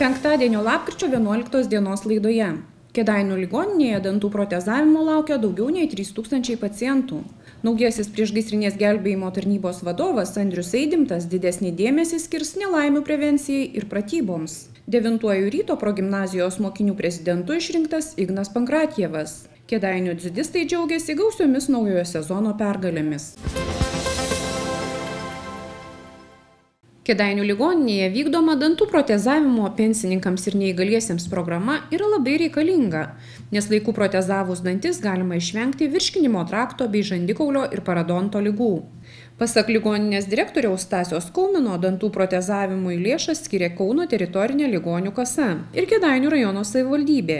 Penktadienio lapkričio 11 dienos laidoje. Kėdainių ligoninėje dantų protezavimo laukia daugiau nei 3000 pacientų. Naujasis priešgaisrinės gelbėjimo tarnybos vadovas Andrius Eidimtas didesnį dėmesį skirs nelaimių prevencijai ir pratyboms. 9 ryto progimnazijos mokinių prezidentu išrinktas Ignas Pankratjevas. Kėdainių dzidistai džiaugiasi gausiomis naujojo sezono pergalėmis. Kėdainių ligoninėje vykdoma dantų protezavimo pensininkams ir neįgaliesiems programa yra labai reikalinga, nes laiku protezavus dantis galima išvengti virškinimo trakto bei žandikaulio ir paradonto ligų. Pasak ligoninės direktoriaus Stasio Skaumino, dantų protezavimui lėšas skiria Kauno teritorinė ligonių kasa ir Kėdainių rajono savivaldybė.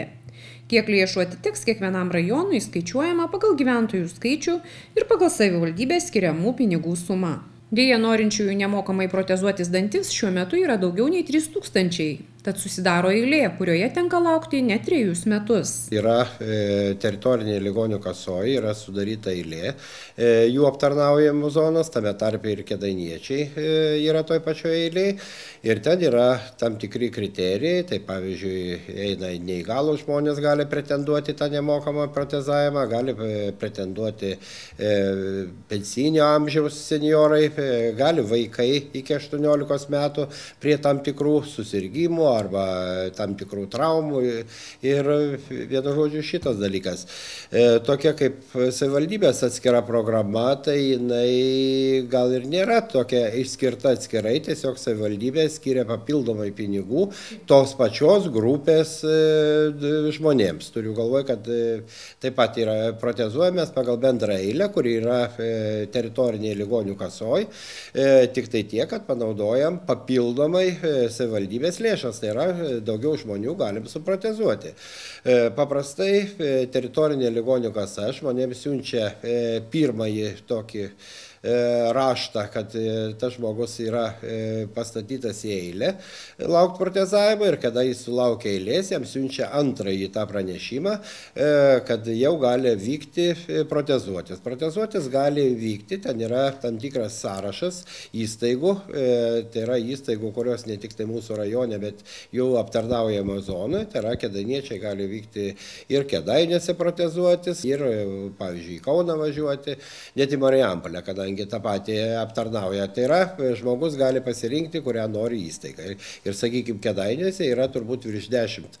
Kiek lėšų atiteks kiekvienam rajonui skaičiuojama pagal gyventojų skaičių ir pagal savivaldybės skiriamų pinigų sumą. Deja, norinčiųjų nemokamai protezuotis dantis šiuo metu yra daugiau nei 3000, tad susidaro eilė, kurioje tenka laukti net 3 metus. Yra teritorinė ligonių kasoje, yra sudaryta eilė, jų aptarnaujamų zonas, tame tarpe ir kėdainiečiai yra toj pačioje eilėje. Ir ten yra tam tikri kriterijai, tai pavyzdžiui, eina neįgalūs žmonės gali pretenduoti tą nemokamą protezavimą, gali pretenduoti pensinio amžiaus senjorai, gali vaikai iki 18 metų prie tam tikrų susirgymų arba tam tikrų traumų ir vienu žodžiu šitas dalykas. Tokia kaip savivaldybės atskira programa, tai jinai gal ir nėra tokia išskirta atskirai, tiesiog savivaldybė skiria papildomai pinigų tos pačios grupės žmonėms. Turiu galvoje, kad taip pat yra protezuojamas pagal bendrą eilę, kuri yra teritorinėje ligonių kasoje, tik tai tiek, kad panaudojam papildomai savivaldybės lėšas. Tai yra daugiau žmonių galim suprotezuoti. Paprastai teritorinė ligonių kasa žmonėms siunčia pirmąjį tokį raštą, kad tas žmogus yra pastatytas į eilę laukti protezavimo ir kada jis sulaukia eilės, jam siunčia antrąjį tą pranešimą, kad jau gali vykti protezuotis. Protezuotis gali vykti, ten yra tam tikras sąrašas įstaigų, tai yra įstaigų, kurios ne tik tai mūsų rajone, bet jau aptarnaujama zonoje, tai yra kėdainiečiai gali vykti ir Kėdainiuose protezuotis, ir pavyzdžiui į Kauną važiuoti, net į Marijampolę, kadangi tą patį aptarnauja. Tai yra, žmogus gali pasirinkti, kurią nori įstaigą. Ir sakykime, Kėdainiuose yra turbūt virš 10.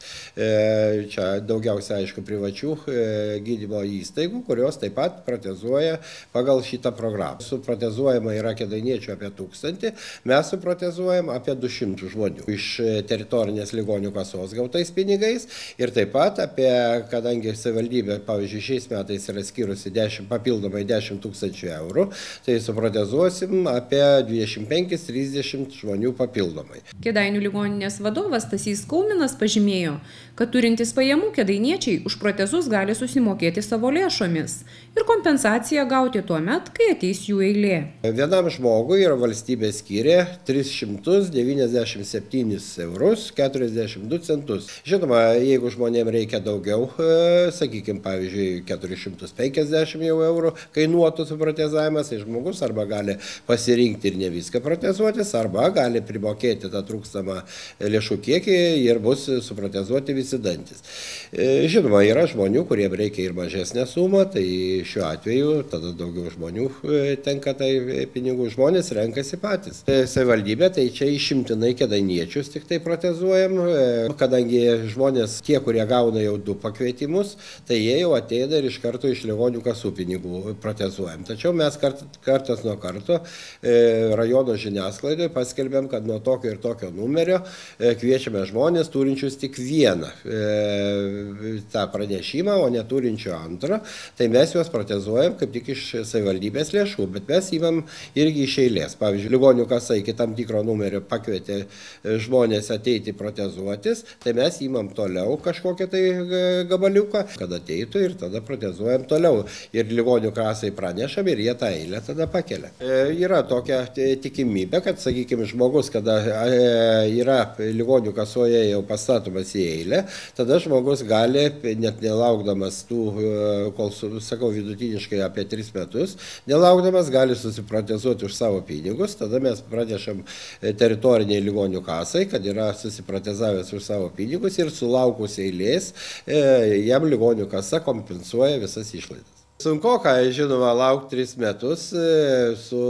Čia daugiausia, aišku, privačių gydymo įstaigų, kurios taip pat protezuoja pagal šitą programą. Suprotezuojama yra kėdainiečių apie 1000, mes suprotezuojam apie 200 žmonių iš teritorinės ligonių kasos gautais pinigais ir taip pat apie, kadangi savivaldybė, pavyzdžiui, šiais metais yra skirusi papildomai 10 000 eurų, tai suprotezuosim apie 25-30 žmonių papildomai. Kėdainių ligoninės vadovas Stasys Skauminas pažymėjo, kad turintys pajamų kėdainiečiai už protezus gali susimokėti savo lėšomis ir kompensaciją gauti tuo met, kai ateis jų eilė. Vienam žmogui yra valstybė skiria 397 eurus 42 centus. Žinoma, jeigu žmonėms reikia daugiau, sakykime, pavyzdžiui, 450 eurų kainuotų suprotezavimas, tai žmogus arba gali pasirinkti ir ne viską protezuotis, arba gali primokėti tą trūkstamą lėšų kiekį ir bus suprotezuoti visi dantis. Žinoma, yra žmonių, kuriems reikia ir mažesnę sumą, tai šiuo atveju tada daugiau žmonių tenka tai pinigų, žmonės renkasi patys. Savivaldybė, tai čia išimtinai kėdainiečius tik tai protezuojam, kadangi žmonės, tie, kurie gauna jau 2 pakvietimus, tai jie jau ateina ir iš karto iš ligonių kasų pinigų protezuojam. Tačiau mes kartas nuo karto rajono žiniasklaidoje paskelbėm, kad nuo tokio ir tokio numerio kviečiame žmonės turinčius tik vieną tą pranešimą, o neturinčių antrą, tai mes juos protezuojam kaip tik iš savivaldybės lėšų, bet mes įmam irgi iš eilės. Pavyzdžiui, ligonių kasa iki tam tikro numerio pakvietė žmonės ateiti protezuotis, tai mes įmam toliau kažkokią tai gabaliuką, kad ateitų ir tada protezuojam toliau. Ir ligonių kasai pranešam ir jie tą eilę tada pakelia. Yra tokia tikimybė, kad, sakykime, žmogus, kada yra ligonių kasoje jau pastatomas į eilę, tada žmogus gali, net nelaukdamas tų, kol sakau, vidutiniškai apie 3 metus, nelaukdamas gali susiprotezuoti už savo pinigus, tada mes pranešam teritoriniai ligonių kasai, kad yra susiprotezavęs už savo pinigus ir sulaukus eilės, jam ligonių kasa kompensuoja visas išlaidas. Sunku, žinoma, laukti 3 metus su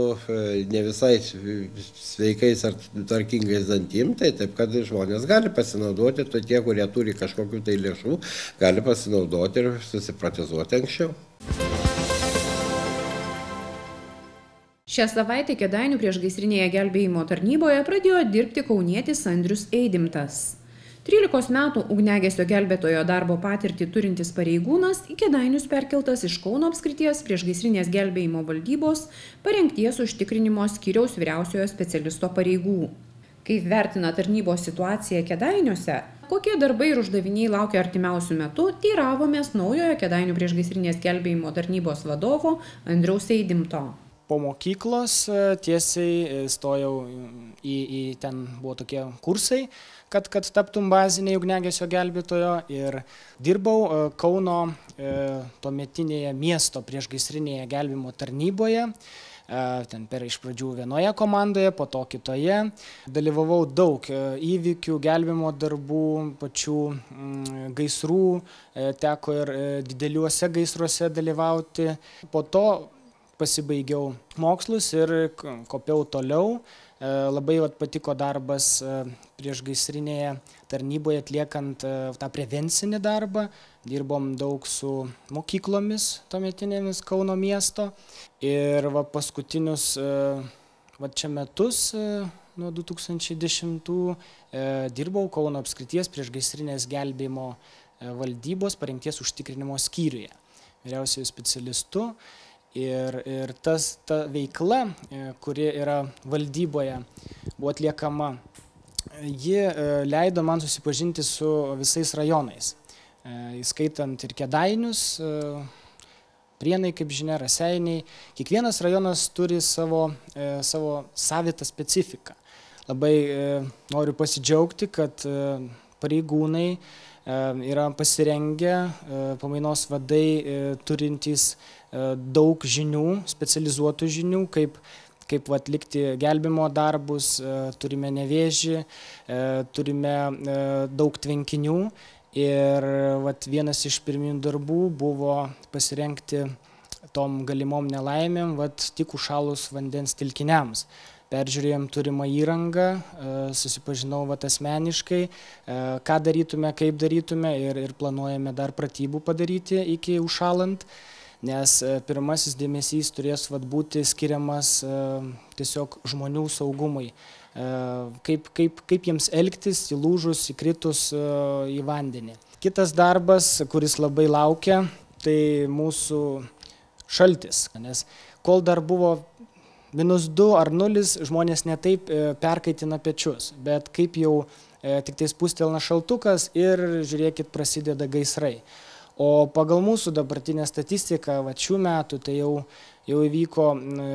ne visai sveikais ar tvarkingais dantim, tai taip, kad žmonės gali pasinaudoti, tai tie, kurie turi kažkokių tai lėšų, gali pasinaudoti ir susiprotezuoti anksčiau. Šią savaitę Kėdainių priešgaisrinėje gelbėjimo tarnyboje pradėjo dirbti kaunietis Andrius Eidimtas. 13 metų ugniagesio gelbėtojo darbo patirtį turintis pareigūnas į Kėdainius perkeltas iš Kauno apskrities priešgaisrinės gelbėjimo valdybos parengties užtikrinimo skyriaus vyriausiojo specialisto pareigų. Kaip vertina tarnybos situaciją Kėdainiuose, kokie darbai ir uždaviniai laukia artimiausių metų, teiravomės naujojo Kėdainių priešgaisrinės gelbėjimo tarnybos vadovo Andriaus Eidimto. Po mokyklos tiesiai stojau ten buvo tokie kursai, kad taptum baziniai ugniagesio gelbėtojo ir dirbau Kauno tuometinėje miesto priešgaisrinėje gelbėjimo tarnyboje. Ten iš pradžių vienoje komandoje, po to kitoje. Dalyvavau daug įvykių, gelbėjimo darbų, pačių gaisrų, teko ir dideliuose gaisruose dalyvauti. Po to pasibaigiau mokslus ir kopiau toliau. Labai patiko darbas priešgaisrinėje tarnyboje atliekant tą prevencinį darbą. Dirbom daug su mokyklomis tuometinėmis Kauno miesto. Ir paskutinius čia metus, nuo 2010, dirbau Kauno apskrities priešgaisrinės gelbėjimo valdybos parengties užtikrinimo skyriuje, vyriausiuoju specialistu. Ir ta veikla, kuri yra valdyboje, buvo atliekama, ji leido man susipažinti su visais rajonais, įskaitant ir Kėdainius, Prienai, kaip žinia, Raseiniai. Kiekvienas rajonas turi savo savitą specifiką. Labai noriu pasidžiaugti, kad pareigūnai yra pasirengę, pamainos vadai turintys daug žinių, specializuotų žinių, kaip atlikti gelbėjimo darbus, turime Nevėžį, turime daug tvenkinių ir vienas iš pirminių darbų buvo pasirengti tom galimom nelaimėm, tik užšalus vandens telkiniams. Peržiūrėjom turimą įrangą, susipažinau asmeniškai, ką darytume, kaip darytume ir planuojame dar pratybų padaryti iki užšalant, nes pirmasis dėmesys turės būti skiriamas tiesiog žmonių saugumui, kaip jiems elgtis įlūžus, įkritus į vandenį. Kitas darbas, kuris labai laukia, tai mūsų šaltis, nes kol dar buvo -2 ar 0, žmonės netaip perkaitina pečius, bet kaip jau tik tai spustelna šaltukas ir žiūrėkit, prasideda gaisrai. O pagal mūsų dabartinę statistiką, šių metų, tai jau įvyko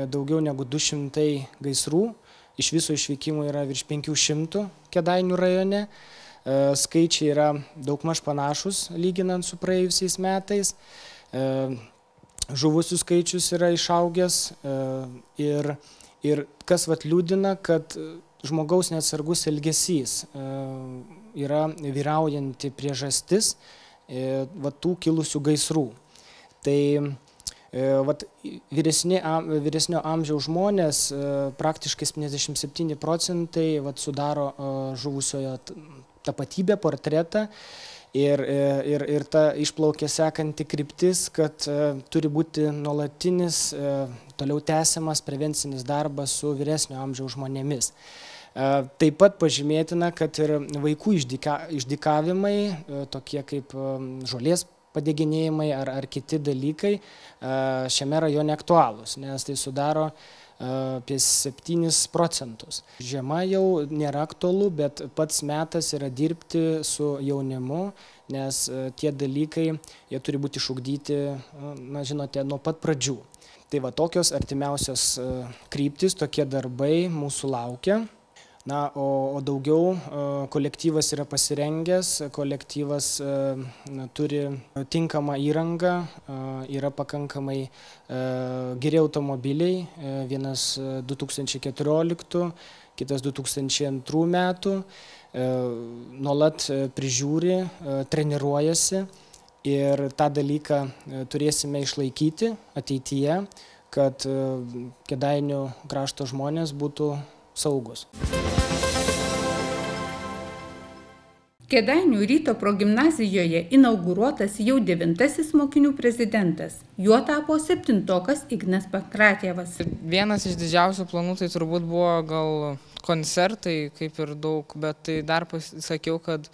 daugiau negu 200 gaisrų, iš viso išvykimų yra virš 500 Kėdainių rajone, skaičiai yra daugmaž panašus lyginant su praėjusiais metais. Žuvusių skaičius yra išaugęs ir kas liūdina, kad žmogaus neatsargus elgesys yra vyraujanti priežastis tų kilusių gaisrų. Tai vyresnio amžiaus žmonės, praktiškai 77% sudaro žuvusiojo tapatybę, portretą. Ir ta išplaukia sekanti kryptis, kad turi būti nuolatinis, toliau tęsiamas prevencinis darbas su vyresnio amžiaus žmonėmis. Taip pat pažymėtina, kad ir vaikų išdykavimai, tokie kaip žolės padeginėjimai ar kiti dalykai, šiame rajone aktualūs, nes tai sudaro apie 7%. Žiema jau nėra aktualu, bet pats metas yra dirbti su jaunimu, nes tie dalykai, jie turi būti išugdyti, žinote, nuo pat pradžių. Tai va tokios artimiausios kryptis, tokie darbai mūsų laukia. Na, o daugiau kolektyvas yra pasirengęs, kolektyvas turi tinkamą įrangą, yra pakankamai geri automobiliai, vienas 2014, kitas 2002 metų, nuolat prižiūri, treniruojasi ir tą dalyką turėsime išlaikyti ateityje, kad Kėdainių krašto žmonės būtų saugus. Kėdainių ryto progimnazijoje inauguruotas jau 9. mokinių prezidentas. Juo tapo 7-tokas Ignas Pankratjevas. Vienas iš didžiausių planų tai turbūt buvo gal koncertai, kaip ir daug, bet tai dar pasakiau, kad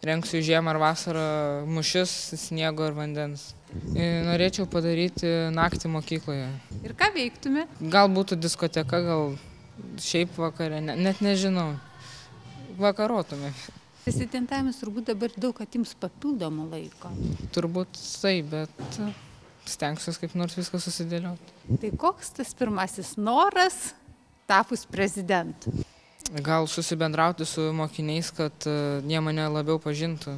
rengsiu žiemą ar vasarą mūšius sniego ir vandens. Norėčiau padaryti naktį mokykloje. Ir ką veiktume? Gal būtų diskoteka, gal šiaip vakare, net nežinau. Vakarotume. Prezidentavimas turbūt dabar daug atims papildomą laiko. Turbūt tai, bet stengsiuosi kaip nors viską susidėlioti. Tai koks tas pirmasis noras tapus prezidentu? Gal susibendrauti su mokiniais, kad jie mane labiau pažintų,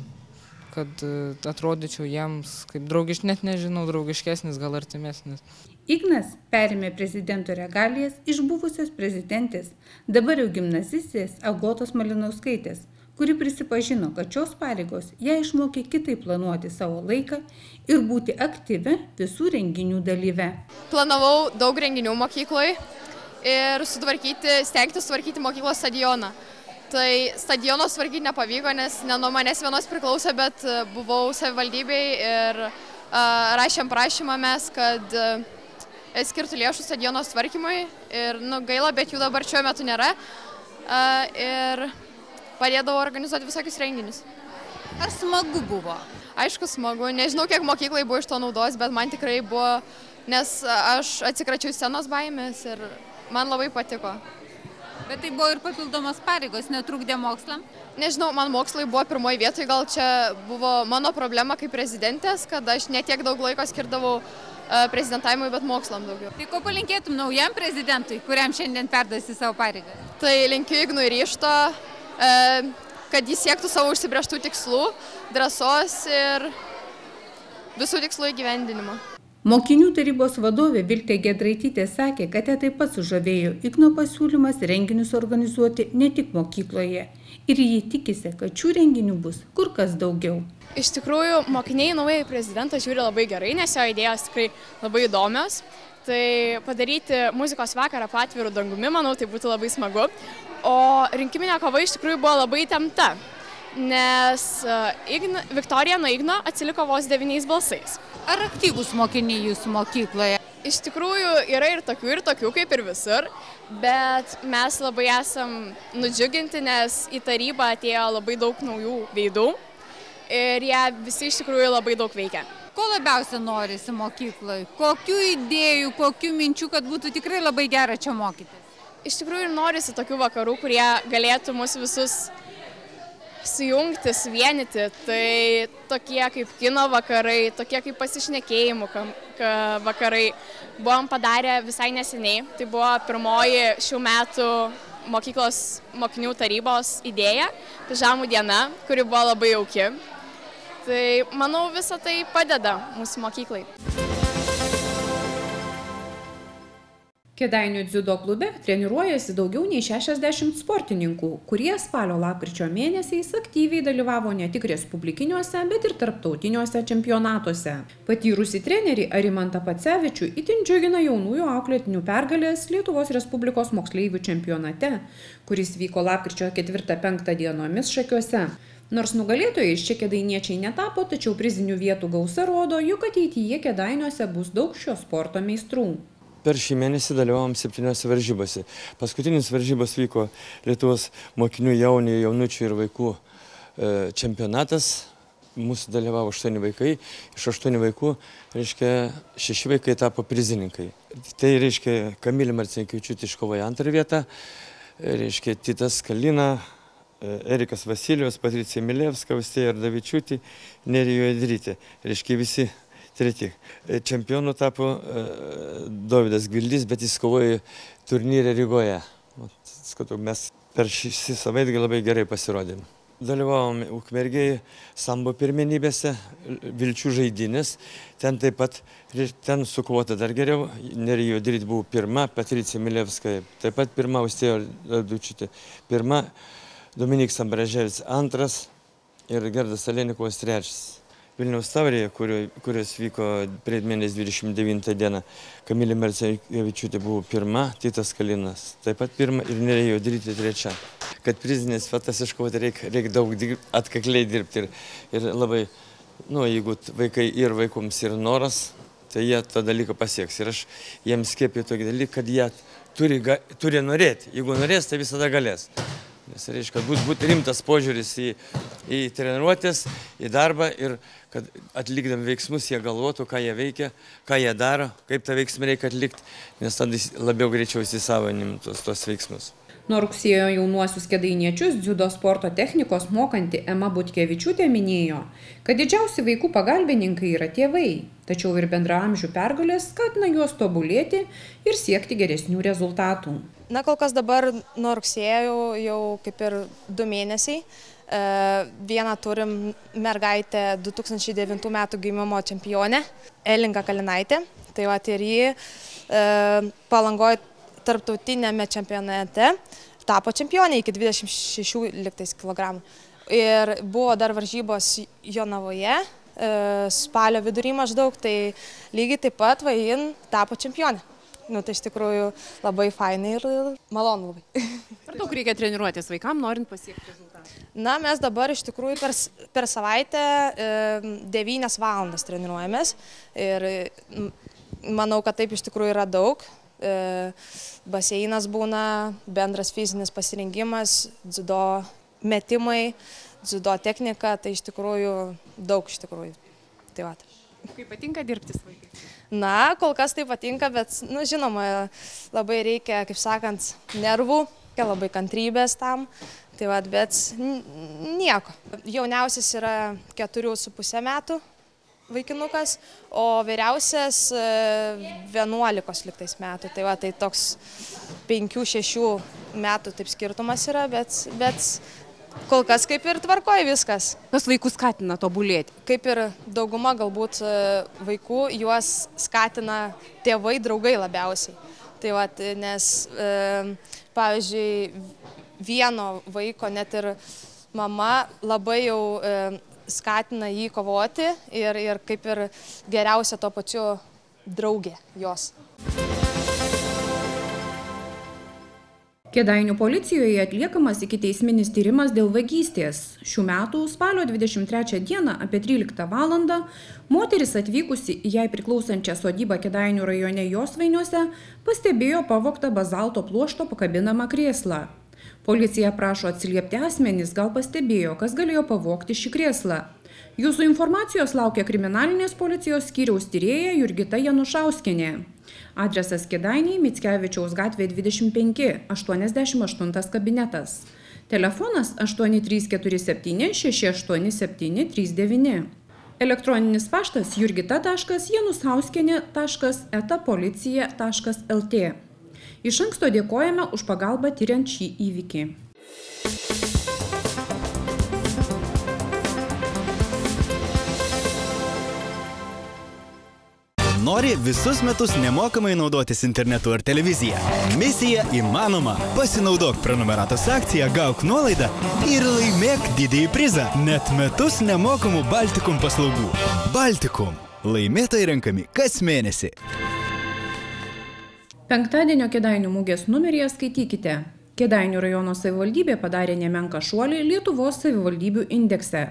kad atrodyčiau jiems kaip net nežinau, draugiškesnis, gal artimesnis. Ignas perėmė prezidento regalijas iš buvusios prezidentės, dabar jau gimnazistės Agotos Malinauskaitės, kuri prisipažino, kad šios pareigos ją išmokė kitaip planuoti savo laiką ir būti aktyvi visų renginių dalyve. Planavau daug renginių mokykloje ir stengtis sutvarkyti mokyklos stadioną. Tai stadiono sutvarkyti nepavyko, nes ne nuo manęs vienos priklausė, bet buvau savivaldybėj ir rašėm prašymą mes, kad skirtų lėšų stadiono sutvarkymui ir gaila, bet jų dabar šiuo metu nėra. Ir padėdavau organizuoti visokius renginius. Ar smagu buvo? Aišku, smagu. Nežinau, kiek mokyklai buvo iš to naudos, bet man tikrai buvo, nes aš atsikračiau scenos baimės ir man labai patiko. Bet tai buvo ir papildomos pareigos, netrukdė mokslam? Nežinau, man mokslai buvo pirmoji vietoje, gal čia buvo mano problema kaip prezidentės, kad aš netiek daug laiko skirdavau prezidentavimui, bet mokslam daugiau. Tai ko palinkėtum naujam prezidentui, kuriam šiandien perdasi savo pareigą? Tai linkiu Ignui ryžto, kad jis siektų savo užsibrėžtų tikslų, drąsos ir visų tikslų įgyvendinimo. Mokinių tarybos vadovė Viltė Giedraitytė sakė, kad ją taip pat sužavėjo Igno pasiūlymas renginius organizuoti ne tik mokykloje. Ir jį tikisi, kad šių renginių bus kur kas daugiau. Iš tikrųjų, mokiniai naująjį prezidentą žiūri labai gerai, nes jo idėjos tikrai labai įdomios. Tai padaryti muzikos vakarą po atviru dangumi, manau, tai būtų labai smagu. O rinkiminė kova iš tikrųjų buvo labai įtempta, nes Viktorija nuo Igno atsiliko vos 9 balsais. Ar aktyvūs mokiniai jūsų mokykloje? Iš tikrųjų yra ir tokių kaip ir visur, bet mes labai esam nudžiuginti, nes į tarybą atėjo labai daug naujų veidų ir jie visi iš tikrųjų labai daug veikia. Ko labiausia norisi mokykloje? Kokių idėjų, kokių minčių, kad būtų tikrai labai gera čia mokytis? Iš tikrųjų ir norisi tokių vakarų, kurie galėtų mus visus sujungti, suvienyti. Tai tokie kaip kino vakarai, tokie kaip pasišnekėjimų vakarai. Buvom padarę visai neseniai. Tai buvo pirmoji šių metų mokyklos mokinių tarybos idėja, pižamų diena, kuri buvo labai jauki. Tai manau, visa tai padeda mūsų mokyklai. Kėdainių dziudo klube treniruojasi daugiau nei 60 sportininkų, kurie spalio-lapkričio mėnesiais aktyviai dalyvavo ne tik respublikiniuose, bet ir tarptautiniuose čempionatuose. Patyrusį trenerį Arimantą Pacevičių itin džiugina jaunųjų auklėtinių pergalės Lietuvos Respublikos moksleivių čempionate, kuris vyko lapkričio 4-5 dienomis Šakiuose. Nors nugalėtojais čia kėdainiečiai netapo, tačiau prizinių vietų gausa rodo, jog ateityje Kėdainiuose bus daug šio sporto meistrų. Per šį mėnesį dalyvavom 7 varžybose. Paskutinis varžybos vyko Lietuvos mokinių jaunučių ir vaikų čempionatas. Mūsų dalyvavo 8 vaikai. Iš 8 vaikų, 6 vaikai tapo prizininkai. Tai reiškia, Kamilė Marcinkevičiūtė iškovojo 2 vietą, Titas Kalina, Erikas Vasilijos, Patricija Milevska, Austėja Ardavičiūtė, Nerijo Edrytė. Reiškia, visi treti. Čempionu tapo Dovydas Gvildys, bet jis kovojo turnyre Rygoje. Mes per šį savaitgalį labai gerai pasirodėme. Dalyvavom Ukmergėje sambo pirmenybėse, Vilčių žaidynės. Ten taip pat, ten su kvota dar geriau. Nerija Juodrytė buvo pirma, Patricija Milevskaja taip pat pirma, Austėja Dučytė pirma, Dominykas Ambraževičius antras ir Gerdas Alenikovas trečias. Vilniaus taurėje, kurios vyko prieš mėnesį 29 dieną, Kamilė Marcinkevičiūtė buvo pirma, Titas Kalinas taip pat pirma ir Nerija Juodrytė trečia. Kad prizinės vietas iškovoti reikia daug atkakliai dirbti ir labai, jeigu vaikai ir vaikoms yra noras, tai jie tą dalyką pasieks. Ir aš jiems skiepiu tokį dalyką, kad jie turi norėti. Jeigu norės, tai visada galės. Nes reiškia, būtų rimtas požiūris į treniruotės, į darbą ir kad atlikdami veiksmus jie galvotų, ką jie veikia, ką jie daro, kaip tą veiksmą reikia atlikti, nes tada labiau greičiau įsisavanim tos veiksmus. Nuo rugsėjo jaunuosius kėdainiečius dziudo sporto technikos mokanti Ema Butkevičiūtė minėjo, kad didžiausi vaikų pagalbininkai yra tėvai, tačiau ir bendraamžių pergalės skatina juos tobulėti ir siekti geresnių rezultatų. Na, kol kas dabar nuo rugsėjo jau kaip ir 2 mėnesiai. Vieną turim mergaitę 2009 metų gimimo čempionę, Elinga Kalinaitė. Tai va ir ji Palangoje tarptautinėme čempionate tapo čempionė iki 26 kg. Ir buvo dar varžybos Jonavoje, spalio vidury maždaug, tai lygiai taip pat ji tapo čempionė. Tai iš tikrųjų labai fainai ir malonu labai. Ar daug reikia treniruotis vaikam, norint pasiekti rezultatą? Na, mes dabar iš tikrųjų per savaitę 9 valandas treniruojamės ir manau, kad taip iš tikrųjų yra daug. Baseinas būna, bendras fizinis pasirengimas, dziudo metimai, dziudo technika, tai iš tikrųjų daug iš tikrųjų. Tai va. Kaip patinka dirbti su vaikais? Na, kol kas tai patinka, bet, žinoma, labai reikia, kaip sakant, nervų, labai kantrybės tam, tai va, bet nieko. Jauniausias yra 4,5 metų vaikinukas, o vyriausias 11 liktais metų, tai va, tai toks 5-6 metų taip skirtumas yra, bet kol kas kaip ir tvarkoja viskas. Kas vaikus skatina tobulėti? Kaip ir dauguma galbūt vaikų, juos skatina tėvai, draugai labiausiai. Tai va, nes, pavyzdžiui, vieno vaiko net ir mama labai jau skatina jį kovoti ir kaip ir geriausia tuo pačiu draugė jos. Kėdainių policijoje atliekamas ikiteisminis tyrimas dėl vagystės. Šių metų spalio 23 dieną apie 13 valandą moteris atvykusi į jai priklausančią sodybą Kėdainių rajone Josvainiuose pastebėjo pavogtą bazalto pluošto pakabinamą krėslą. Policija prašo atsiliepti asmenys, gal pastebėjo, kas galėjo pavogti šį krėslą. Jūsų informacijos laukia kriminalinės policijos skyriaus tyrėja Jurgita Janušauskienė. Adresas Kėdainiai, Mickevičiaus gatvė 25, 88 kabinetas. Telefonas 8347 687 39. Elektroninis paštas jurgita.janusauskienė.eta-policija.lt. Iš anksto dėkojame už pagalbą tyriant šį įvykį. Nori visus metus nemokamai naudotis internetu ar televizija? Misija įmanoma. Pasinaudok prenumeratos akciją, gauk nuolaidą ir laimėk didįjį prizą. Net metus nemokamų Baltikum paslaugų. Baltikum. Laimėtojai renkami kas mėnesį. Penktadienio Kėdainių mugės numeryje skaitykite. Kėdainių rajono savivaldybė padarė nemenką šuolį Lietuvos savivaldybių indekse.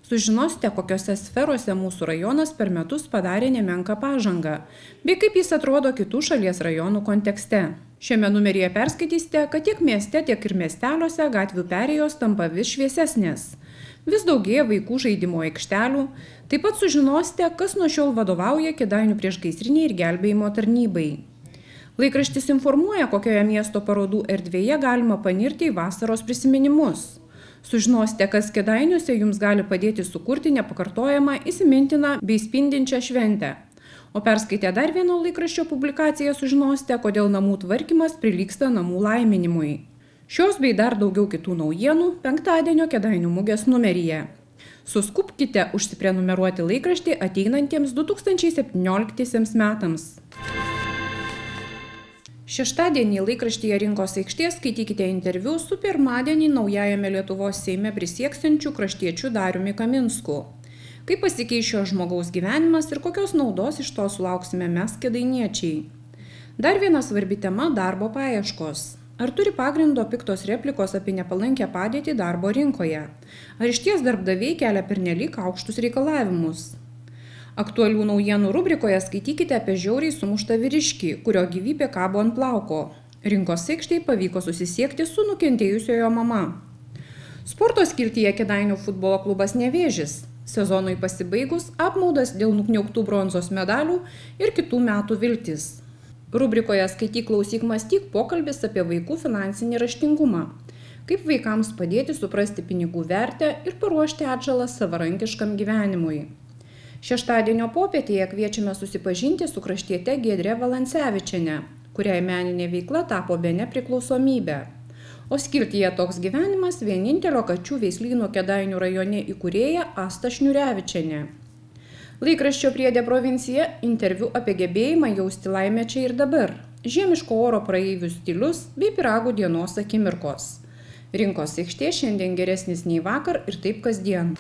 Sužinosite, kokiose sferose mūsų rajonas per metus padarė nemenką pažangą, bei kaip jis atrodo kitų šalies rajonų kontekste. Šiame numeryje perskaitysite, kad tiek mieste, tiek ir miesteliuose gatvių perėjos tampa vis šviesesnės. Vis daugėja vaikų žaidimo aikštelių. Taip pat sužinosite, kas nuo šiol vadovauja Kėdainių priešgaisrinei ir gelbėjimo tarnybai. Laikraštis informuoja, kokioje miesto parodų erdvėje galima panirti į vasaros prisiminimus. Sužinosite, kas Kėdainiuose jums gali padėti sukurti nepakartojamą, įsimintiną bei spindinčią šventę. O perskaitę dar vieno laikraščio publikaciją sužinosite, kodėl namų tvarkymas prilygsta namų laiminimui. Šios bei dar daugiau kitų naujienų penktadienio Kėdainių mugės numeryje. Suskubkite užsiprenumeruoti laikraštį ateinantiems 2017 metams. Šeštadienį laikraštyje Rinkos aikštė skaitykite interviu su pirmadienį naujajame Lietuvos Seime prisieksiančiu kraštiečiu Dariumi Kaminsku. Kaip pasikeis šio žmogaus gyvenimas ir kokios naudos iš to sulauksime mes kėdainiečiai. Dar viena svarbi tema – darbo paieškos. Ar turi pagrindo piktos replikos apie nepalankę padėtį darbo rinkoje? Ar išties darbdaviai kelia pernelyg aukštus reikalavimus? Aktualių naujienų rubrikoje skaitykite apie žiauriai sumuštą vyriškį, kurio gyvybė kabo ant plauko. Rinkos aikštei pavyko susisiekti su nukentėjusiojo mama. Sporto skiltyje Kėdainių futbolo klubas Nevėžis. Sezonui pasibaigus apmaudas dėl nukniauktų bronzos medalių ir kitų metų viltis. Rubrikoje Skaityk, klausyk, mąstyk pokalbis apie vaikų finansinį raštingumą. Kaip vaikams padėti suprasti pinigų vertę ir paruošti atžalą savarankiškam gyvenimui. Šeštadienio popietėje kviečiame susipažinti su kraštiete Giedre Valancevičiene, kuriai meninė veikla tapo bene priklausomybė. O skiltyje Toks gyvenimas vienintelio kačių veislyno Kėdainių rajone įkūrėja Asta Šniurevičienė. Laikraščio Priedė provincija interviu apie gebėjimą jausti laimę čia ir dabar, žiemiško oro praeivių stilius bei pyragų dienos akimirkos. Rinkos aikštė šiandien geresnis nei vakar ir taip kasdien.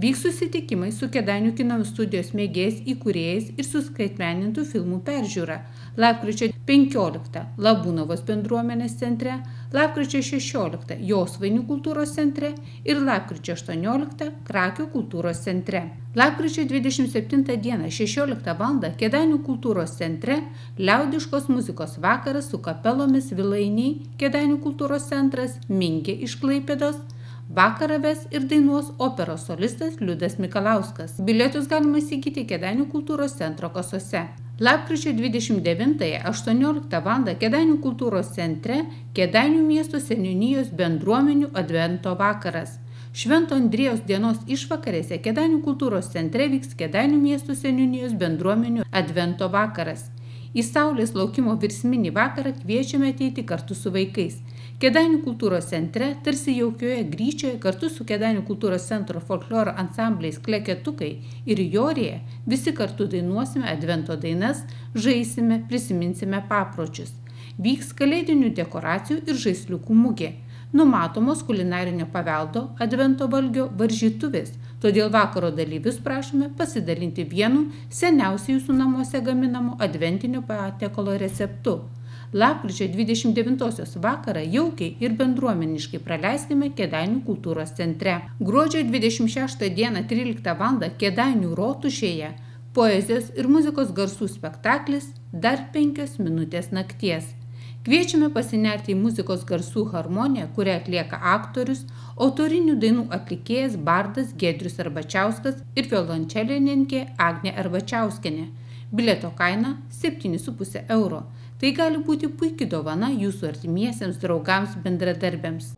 Vyks susitikimai su Kėdainių kino studijos mėgėjais įkūrėjais ir suskaitmenintų filmų peržiūra. Lapkričio 15 Labūnavos bendruomenės centre, lapkričio 16 Josvainių kultūros centre ir lapkričio 18 Krakio kultūros centre. Lapkričio 27 dieną 16 val. Kėdainių kultūros centre liaudiškos muzikos vakaras su kapelomis Vilainiai, Kėdainių kultūros centras, Minkė iš Klaipėdos. Vakarą ves ir dainuos operos solistas Liudas Mikalauskas. Bilietus galima įsigyti Kėdainių kultūros centro kasose. Lapkričio 29-18 val. Kėdainių kultūros centre Kėdainių miesto seniūnijos bendruomenių advento vakaras. Švento Andriejaus dienos išvakarėse Kėdainių kultūros centre vyks Kėdainių miesto seniūnijos bendruomenių advento vakaras. Į saulės laukimo virsminį vakarą kviečiame ateiti kartu su vaikais. Kėdainių kultūros centre, tarsi jaukioje Gryčioje, kartu su Kėdainių kultūros centro folkloro ansambliais Kleketukai ir Jorėje, visi kartu dainuosime advento dainas, žaisime, prisiminsime papročius. Vyks kalėdinių dekoracijų ir žaisliukų mugė. Numatomos kulinarinio paveldo advento valgio varžytuvės, todėl vakaro dalyvius prašome pasidalinti vienu seniausiai jūsų namuose gaminamu adventinio patiekalo receptu. Lapkričio 29-osios vakarą jaukiai ir bendruomeniškai praleiskime Kėdainių kultūros centre. Gruodžio 26 dieną 13 val. Kėdainių rotušėje poezijos ir muzikos garsų spektaklis Dar 5 minutės nakties. Kviečiame pasinerti į muzikos garsų harmoniją, kurią atlieka aktorius, autorinių dainų atlikėjas bardas Giedrius Arbačiauskas ir violončelininkė Agnė Arbačiauskienė. Bilieto kaina 7,5 €. Tai gali būti puiki dovana jūsų artimiesiems draugams bendradarbiams.